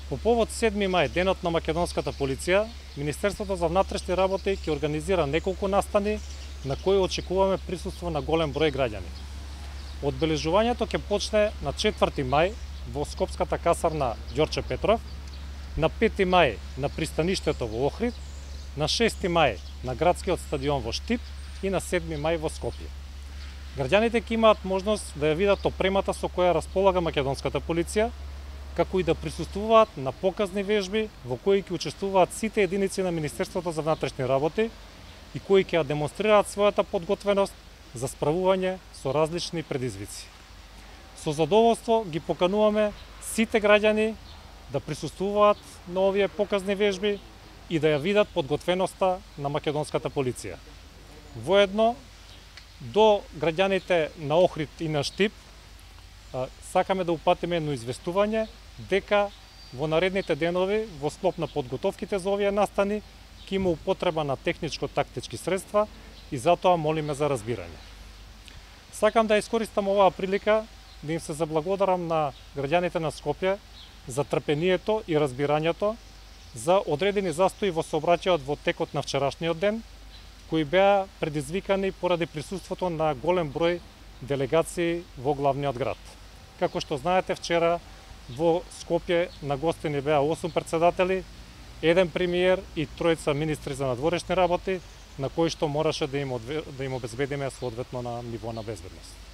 По повод 7 мај, денот на македонската полиција, Министерството за внатрешни работи ќе организира неколку настани на кои очекуваме присуство на голем број граѓани. Одбележувањето ќе почне на 4 мај во Скопската касарна Ѓорче Петров, на 5 мај на пристаништето во Охрид, на 6 мај на градскиот стадион во Штип и на 7 мај во Скопје. Граѓаните ќе имаат можност да ја видат опремата со која располага македонската полиција, како и да присуствуваат на показни вежби во кои ќе учествуваат сите единици на Министерството за внатрешни работи и кои ќе демонстрираат својата подготвеност за справување со различни предизвици. Со задоволство ги покануваме сите граѓани да присуствуваат на овие показни вежби и да ја видат подготвеноста на македонската полиција. Воедно, до граѓаните на Охрид и на Штип сакаме да упатиме едно известување дека во наредните денови во склоп на подготовките за овие настани ќе има употреба на техничко-тактички средства и затоа молиме за разбирање. Сакам да искористам оваа прилика да им се заблагодарам на граѓаните на Скопје за трпението и разбирањето за одредени застои во сообраќајот во текот на вчерашниот ден, кои беа предизвикани поради присуството на голем број делегации во главниот град. Како што знаете, вчера во Скопје на гостини беа 8 председатели, 1 премиер и 3 министри за надворешни работи, на кои што мораше да им обезбедиме соодветно на ниво на безбедност.